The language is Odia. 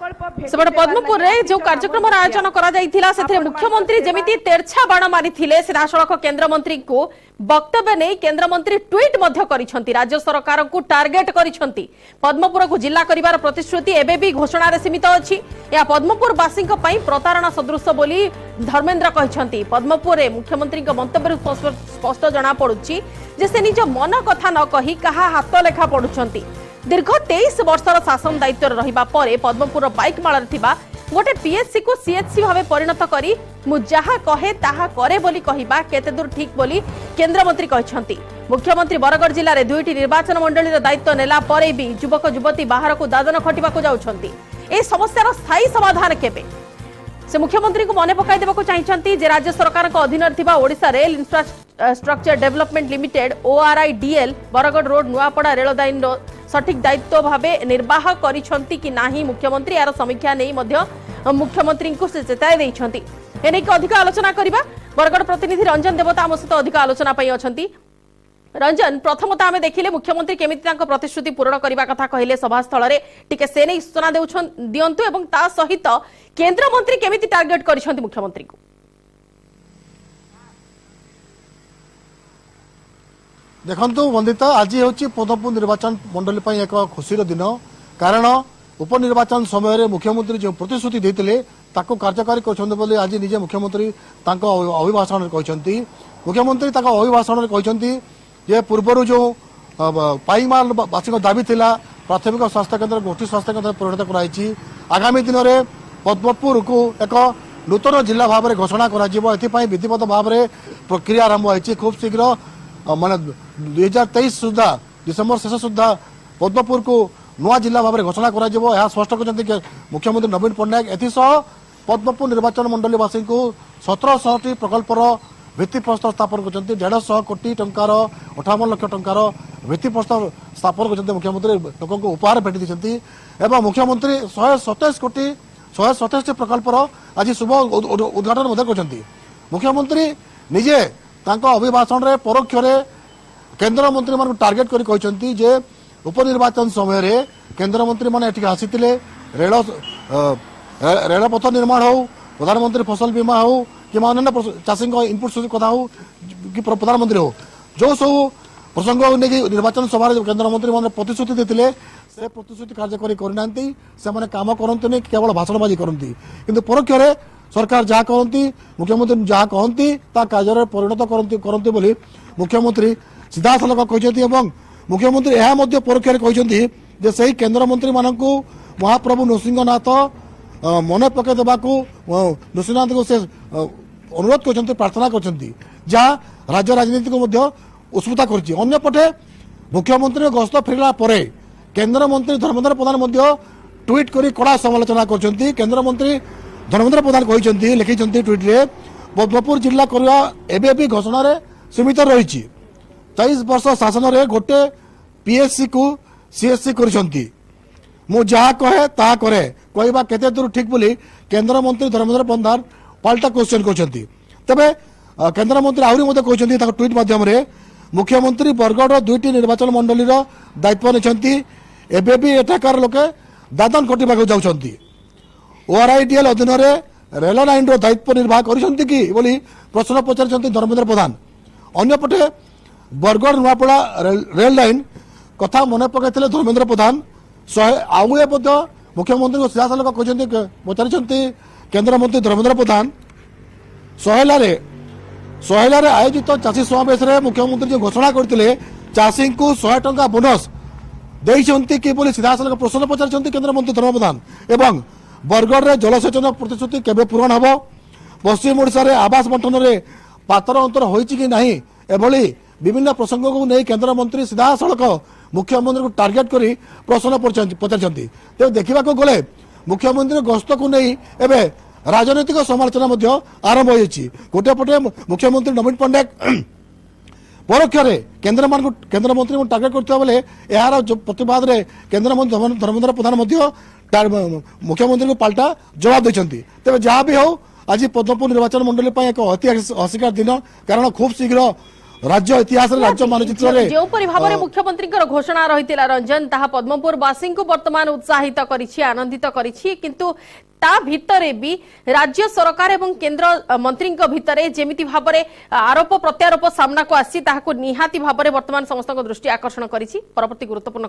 ସେପଟେ ପଦ୍ମପୁରରେ ଯେଉଁ କାର୍ଯ୍ୟକ୍ରମର ଆୟୋଜନ କରାଯାଇଥିଲା ସେଥିରେ ମୁଖ୍ୟମନ୍ତ୍ରୀ ଯେମିତି ତେର୍ଛା ବାଣ ମାରିଥିଲେ, ସିଧାସଳଖ କେନ୍ଦ୍ରମନ୍ତ୍ରୀଙ୍କୁ ବକ୍ତବ୍ୟ ନେଇ କେନ୍ଦ୍ରମନ୍ତ୍ରୀ ଟ୍ୱିଟ୍ ମଧ୍ୟ କରିଛନ୍ତି। ରାଜ୍ୟ ସରକାରଙ୍କୁ ଟାର୍ଗେଟ କରିଛନ୍ତି। ପଦ୍ମପୁରକୁ ଜିଲ୍ଲା କରିବାର ପ୍ରତିଶ୍ରୁତି ଏବେ ବି ଘୋଷଣାରେ ସୀମିତ ଅଛି। ଏହା ପଦ୍ମପୁରବାସୀଙ୍କ ପାଇଁ ପ୍ରତାରଣା ସଦୃଶ ବୋଲି ଧର୍ମେନ୍ଦ୍ର କହିଛନ୍ତି। ପଦ୍ମପୁରରେ ମୁଖ୍ୟମନ୍ତ୍ରୀଙ୍କ ମନ୍ତବ୍ୟରୁ ସ୍ପଷ୍ଟ ଜଣାପଡୁଛି ଯେ ସେ ନିଜ ମନ କଥା ନ କହି କାହା ହାତ ଲେଖା ପଢୁଛନ୍ତି। ଦୀର୍ଘ 23 ବର୍ଷର ଶାସନ ଦାୟିତ୍ୱରେ ରହିବା ପରେ ପଦ୍ମପୁରର ପାଇକମାଳରେ ଥିବା ଗୋଟେ ପିଏଚସିକୁ ସିଏଚସି ଭାବେ ପରିଣତ କରି ମୁଁ ଯାହା କହେ ତାହା କରେ ବୋଲି କହିବା କେତେଦୂର ଠିକ୍ ବୋଲି କେନ୍ଦ୍ରମନ୍ତ୍ରୀ କହିଛନ୍ତି। ମୁଖ୍ୟମନ୍ତ୍ରୀ ବରଗଡ଼ ଜିଲ୍ଲାରେ 2ଟି ନିର୍ବାଚନ ମଣ୍ଡଳୀର ଦାୟିତ୍ୱ ନେଲା ପରେ ବି ଯୁବକ ଯୁବତୀ ବାହାରକୁ ଦାଦନ ଖଟିବାକୁ ଯାଉଛନ୍ତି। ଏହି ସମସ୍ୟାର ସ୍ଥାୟୀ ସମାଧାନ କେବେ? ସେ ମୁଖ୍ୟମନ୍ତ୍ରୀଙ୍କୁ ମନେ ପକାଇ ଦେବାକୁ ଚାହିଁଛନ୍ତି ଯେ ରାଜ୍ୟ ସରକାରଙ୍କ ଅଧୀନରେ ଥିବା Odisha rail infrastructure development limited ORIDL Bargarh road Nuapada ରେଳ ଲାଇନ୍ର ସଠିକ୍ ଦାୟିତ୍ୱ ଭାବେ ନିର୍ବାହ କରିଛନ୍ତି କି ନାହିଁ ମୁଖ୍ୟମନ୍ତ୍ରୀ ଏହାର ସମୀକ୍ଷା ନେଇ ମଧ୍ୟ ମୁଖ୍ୟମନ୍ତ୍ରୀଙ୍କୁ ସେ ଚେତାଇ ଦେଇଛନ୍ତି। ଏନେଇକି ଅଧିକ ଆଲୋଚନା କରିବା, ବରଗଡ଼ ପ୍ରତିନିଧି ରଞ୍ଜନ ଦେବତା ଆମ ସହିତ ଅଧିକ ଆଲୋଚନା ପାଇଁ ଅଛନ୍ତି। ରଞ୍ଜନ, ପ୍ରଥମତଃ ଆମେ ଦେଖିଲେ ମୁଖ୍ୟମନ୍ତ୍ରୀ କେମିତି ତାଙ୍କ ପ୍ରତିଶ୍ରୁତି ପୂରଣ କରିବା କଥା କହିଲେ ସଭାସ୍ଥଳରେ, ଟିକେ ସେ ନେଇ ସୂଚନା ଦିଅନ୍ତୁ ଏବଂ ତା ସହିତ କେନ୍ଦ୍ରମନ୍ତ୍ରୀ କେମିତି ଟାର୍ଗେଟ କରିଛନ୍ତି ମୁଖ୍ୟମନ୍ତ୍ରୀଙ୍କୁ। ଦେଖନ୍ତୁ ବନ୍ଦିତା, ଆଜି ହେଉଛି ପଦ୍ମପୁର ନିର୍ବାଚନ ମଣ୍ଡଳୀ ପାଇଁ ଏକ ଖୁସିର ଦିନ, କାରଣ ଉପନିର୍ବାଚନ ସମୟରେ ମୁଖ୍ୟମନ୍ତ୍ରୀ ଯେଉଁ ପ୍ରତିଶ୍ରୁତି ଦେଇଥିଲେ ତାକୁ କାର୍ଯ୍ୟକାରୀ କରିଛନ୍ତି ବୋଲି ଆଜି ନିଜେ ମୁଖ୍ୟମନ୍ତ୍ରୀ ତାଙ୍କ ଅଭିଭାଷଣରେ କହିଛନ୍ତି। ମୁଖ୍ୟମନ୍ତ୍ରୀ ତାଙ୍କ ଅଭିଭାଷଣରେ କହିଛନ୍ତି ଯେ ପୂର୍ବରୁ ଯେଉଁ ପାଇକମାଲବାସୀଙ୍କ ଦାବି ଥିଲା ପ୍ରାଥମିକ ସ୍ୱାସ୍ଥ୍ୟକେନ୍ଦ୍ର ଗୋଷ୍ଠୀ ସ୍ୱାସ୍ଥ୍ୟକେନ୍ଦ୍ରରେ ପରିଣତ କରାଯାଇଛି। ଆଗାମୀ ଦିନରେ ପଦ୍ମପୁରକୁ ଏକ ନୂତନ ଜିଲ୍ଲା ଭାବରେ ଘୋଷଣା କରାଯିବ, ଏଥିପାଇଁ ବିଧିବଦ୍ଧ ଭାବରେ ପ୍ରକ୍ରିୟା ଆରମ୍ଭ ହୋଇଛି। ଖୁବ୍ ଶୀଘ୍ର ମାନେ 2023 ସୁଦ୍ଧା ଡିସେମ୍ବର ଶେଷ ସୁଦ୍ଧା ପଦ୍ମପୁରକୁ ନୂଆ ଜିଲ୍ଲା ଭାବରେ ଘୋଷଣା କରାଯିବ, ଏହା ସ୍ପଷ୍ଟ କରିଛନ୍ତି ମୁଖ୍ୟମନ୍ତ୍ରୀ ନବୀନ ପଟ୍ଟନାୟକ। ଏଥିସହ ପଦ୍ମପୁର ନିର୍ବାଚନ ମଣ୍ଡଳୀବାସୀଙ୍କୁ 1700ଟି ପ୍ରକଳ୍ପର ଭିତ୍ତିପ୍ରସ୍ତର ସ୍ଥାପନ କରିଛନ୍ତି। 150 କୋଟି ଟଙ୍କାର 58 ଲକ୍ଷ ଟଙ୍କାର ଭିତ୍ତିପ୍ରସ୍ତର ସ୍ଥାପନ କରିଛନ୍ତି ମୁଖ୍ୟମନ୍ତ୍ରୀ, ଲୋକଙ୍କୁ ଉପହାର ଭେଟି ଦେଇଛନ୍ତି। ଏବଂ ମୁଖ୍ୟମନ୍ତ୍ରୀ 127 କୋଟି 127ଟି ପ୍ରକଳ୍ପର ଆଜି ଶୁଭ ଉଦ୍ଘାଟନ ମଧ୍ୟ କରିଛନ୍ତି। ମୁଖ୍ୟମନ୍ତ୍ରୀ ନିଜେ ତାଙ୍କ ଅଭିଭାଷଣରେ ପରୋକ୍ଷରେ କେନ୍ଦ୍ରମନ୍ତ୍ରୀମାନଙ୍କୁ ଟାର୍ଗେଟ କରି କହିଛନ୍ତି ଯେ ଉପନିର୍ବାଚନ ସମୟରେ କେନ୍ଦ୍ରମନ୍ତ୍ରୀମାନେ ଏଠିକି ଆସିଥିଲେ, ରେଳପଥ ନିର୍ମାଣ ହେଉ, ପ୍ରଧାନମନ୍ତ୍ରୀ ଫସଲ ବୀମା ହେଉ କିମ୍ବା ଅନ୍ୟାନ୍ୟ ଚାଷୀଙ୍କ ଇନପୁଟ କଥା ହେଉ କି ପ୍ରଧାନମନ୍ତ୍ରୀ ହେଉ, ଯେଉଁ ସବୁ ପ୍ରସଙ୍ଗକୁ ନେଇକି ନିର୍ବାଚନ ସଭାରେ କେନ୍ଦ୍ରମନ୍ତ୍ରୀମାନେ ପ୍ରତିଶ୍ରୁତି ଦେଇଥିଲେ ସେ ପ୍ରତିଶ୍ରୁତି କାର୍ଯ୍ୟକାରୀ କରିନାହାନ୍ତି। ସେମାନେ କାମ କରନ୍ତିନି, କେବଳ ଭାଷଣବାଜି କରନ୍ତି, କିନ୍ତୁ ପରୋକ୍ଷରେ ସରକାର ଯାହା କରନ୍ତି, ମୁଖ୍ୟମନ୍ତ୍ରୀ ଯାହା କହନ୍ତି ତା କାର୍ଯ୍ୟରେ ପରିଣତ କରନ୍ତି ବୋଲି ମୁଖ୍ୟମନ୍ତ୍ରୀ ସିଧାସଳଖ କହିଛନ୍ତି। ଏବଂ ମୁଖ୍ୟମନ୍ତ୍ରୀ ଏହା ମଧ୍ୟ ପରୋକ୍ଷରେ କହିଛନ୍ତି ଯେ ସେହି କେନ୍ଦ୍ରମନ୍ତ୍ରୀମାନଙ୍କୁ ମହାପ୍ରଭୁ ନୃସିଂହନାଥ ମନେ ପକାଇ ଦେବାକୁ ନୃସିଂହନାଥଙ୍କୁ ସେ ଅନୁରୋଧ କରିଛନ୍ତି, ପ୍ରାର୍ଥନା କରିଛନ୍ତି, ଯାହା ରାଜ୍ୟ ରାଜନୀତିକୁ ମଧ୍ୟ ଉତ୍ସୁକତା କରିଛି। ଅନ୍ୟପଟେ ମୁଖ୍ୟମନ୍ତ୍ରୀଙ୍କ ଗସ୍ତ ଫେରିଲା ପରେ କେନ୍ଦ୍ରମନ୍ତ୍ରୀ ଧର୍ମେନ୍ଦ୍ର ପ୍ରଧାନ ମଧ୍ୟ ଟ୍ୱିଟ୍ କରି କଡ଼ା ସମାଲୋଚନା କରିଛନ୍ତି। କେନ୍ଦ୍ରମନ୍ତ୍ରୀ ଧର୍ମେନ୍ଦ୍ର ପ୍ରଧାନ କହିଛନ୍ତି, ଲେଖିଛନ୍ତି ଟ୍ୱିଟ୍ରେ, ପଦ୍ମପୁର ଜିଲ୍ଲା କରିବା ଏବେ ବି ଘୋଷଣାରେ ସୀମିତ ରହିଛି। 23 ବର୍ଷ ଶାସନରେ ଗୋଟେ ପିଏଚସିକୁ ସିଏଚସି କରିଛନ୍ତି। ମୁଁ ଯାହା କହେ ତାହା କରେ କହିବା କେତେ ଦୂର ଠିକ୍ ବୋଲି କେନ୍ଦ୍ରମନ୍ତ୍ରୀ ଧର୍ମେନ୍ଦ୍ର ପ୍ରଧାନ ପାଲଟା କ୍ୱେଶ୍ଚନ କରିଛନ୍ତି। ତେବେ କେନ୍ଦ୍ରମନ୍ତ୍ରୀ ଆହୁରି ମଧ୍ୟ କହିଛନ୍ତି ତାଙ୍କ ଟ୍ୱିଟ୍ ମାଧ୍ୟମରେ, ମୁଖ୍ୟମନ୍ତ୍ରୀ ବରଗଡ଼ର 2ଟି ନିର୍ବାଚନ ମଣ୍ଡଳୀର ଦାୟିତ୍ୱ ନେଇଛନ୍ତି, ଏବେ ବି ଏଠାକାର ଲୋକେ ଦାଦନ ଖଟିବାକୁ ଯାଉଛନ୍ତି। ଓଆରଆଇଡିଏଲ୍ ଅଧୀନରେ ରେଳ ଲାଇନ୍ର ଦାୟିତ୍ୱ ନିର୍ବାହ କରିଛନ୍ତି କି ବୋଲି ପ୍ରଶ୍ନ ପଚାରିଛନ୍ତି ଧର୍ମେନ୍ଦ୍ର ପ୍ରଧାନ। ଅନ୍ୟପଟେ ବରଗଡ଼ ନୂଆପଡ଼ା ରେଳ ଲାଇନ୍ କଥା ମନେ ପକାଇଥିଲେ ଧର୍ମେନ୍ଦ୍ର ପ୍ରଧାନ। ଶହେ ଆଉ ଏ ମଧ୍ୟ ମୁଖ୍ୟମନ୍ତ୍ରୀଙ୍କୁ ସିଧାସଳଖ କହିଛନ୍ତି, ପଚାରିଛନ୍ତି କେନ୍ଦ୍ରମନ୍ତ୍ରୀ ଧର୍ମେନ୍ଦ୍ର ପ୍ରଧାନ, ସହେଲାରେ ଆୟୋଜିତ ଚାଷୀ ସମାବେଶରେ ମୁଖ୍ୟମନ୍ତ୍ରୀ ଯେଉଁ ଘୋଷଣା କରିଥିଲେ ଚାଷୀଙ୍କୁ 100 ଟଙ୍କା ବୋନସ୍ ଦେଇଛନ୍ତି କି ବୋଲି ସିଧାସଳଖ ପ୍ରଶ୍ନ ପଚାରିଛନ୍ତି କେନ୍ଦ୍ରମନ୍ତ୍ରୀ ଧର୍ମେନ୍ଦ୍ର ପ୍ରଧାନ। ଏବଂ ବରଗଡ଼ରେ ଜଳସେଚନ ପ୍ରତିଶ୍ରୁତି କେବେ ପୂରଣ ହେବ, ପଶ୍ଚିମ ଓଡ଼ିଶାରେ ଆବାସ ବଣ୍ଟନରେ ପାତର ଅନ୍ତର ହୋଇଛି କି ନାହିଁ, ଏଭଳି ବିଭିନ୍ନ ପ୍ରସଙ୍ଗକୁ ନେଇ କେନ୍ଦ୍ରମନ୍ତ୍ରୀ ସିଧାସଳଖ ମୁଖ୍ୟମନ୍ତ୍ରୀଙ୍କୁ ଟାର୍ଗେଟ କରି ପ୍ରଶ୍ନ ପଚାରିଛନ୍ତି। ତେବେ ଦେଖିବାକୁ ଗଲେ ମୁଖ୍ୟମନ୍ତ୍ରୀ ଗସ୍ତକୁ ନେଇ ଏବେ ରାଜନୈତିକ ସମାଲୋଚନା ମଧ୍ୟ ଆରମ୍ଭ ହୋଇଯାଇଛି। ଗୋଟିଏ ପଟେ ମୁଖ୍ୟମନ୍ତ୍ରୀ ନବୀନ ପଟ୍ଟନାୟକ ପରୋକ୍ଷରେ କେନ୍ଦ୍ରମନ୍ତ୍ରୀଙ୍କୁ ଟାର୍ଗେଟ କରୁଥିବା ବେଳେ ଏହାର ପ୍ରତିବାଦରେ କେନ୍ଦ୍ରମନ୍ତ୍ରୀ ଧର୍ମେନ୍ଦ୍ର ପ୍ରଧାନ ମଧ୍ୟ ମୁଖ୍ୟମନ୍ତ୍ରୀଙ୍କୁ ପାଲଟା ଜବାବ ଦେଇଛନ୍ତି। ତେବେ ଯାହା ବି ହେଉ ଆଜି ପଦ୍ମପୁର ନିର୍ବାଚନ ମଣ୍ଡଳୀ ପାଇଁ ଏକ ଐତିହାସିକ ଦିନ, କାରଣ ଖୁବ୍ ଶୀଘ୍ର ରାଜ୍ୟ ଇତିହାସରେ, ରାଜ୍ୟ ମାନଚିତ୍ରରେ। ଯେଉଁପରି ଭାବରେ ମୁଖ୍ୟମନ୍ତ୍ରୀଙ୍କର ଘୋଷଣା ରହିଥିଲା ରଞ୍ଜନ, ତାହା ପଦ୍ମପୁରବାସୀଙ୍କୁ ବର୍ତ୍ତମାନ ଉତ୍ସାହିତ କରିଛି, ଆନନ୍ଦିତ କରିଛି। କିନ୍ତୁ ତା ଭିତରେ ବି ରାଜ୍ୟ ସରକାର ଏବଂ କେନ୍ଦ୍ର ମନ୍ତ୍ରୀଙ୍କ ଭିତରେ ଯେମିତି ଭାବରେ ଆରୋପ ପ୍ରତ୍ୟାରୋପ ସାମ୍ନାକୁ ଆସିଛି, ତାହାକୁ ନିହାତି ଭାବରେ ବର୍ତ୍ତମାନ ସମସ୍ତଙ୍କ ଦୃଷ୍ଟି ଆକର୍ଷଣ କରିଛି। ପରବର୍ତ୍ତୀ ଗୁରୁତ୍ୱପୂର୍ଣ୍ଣ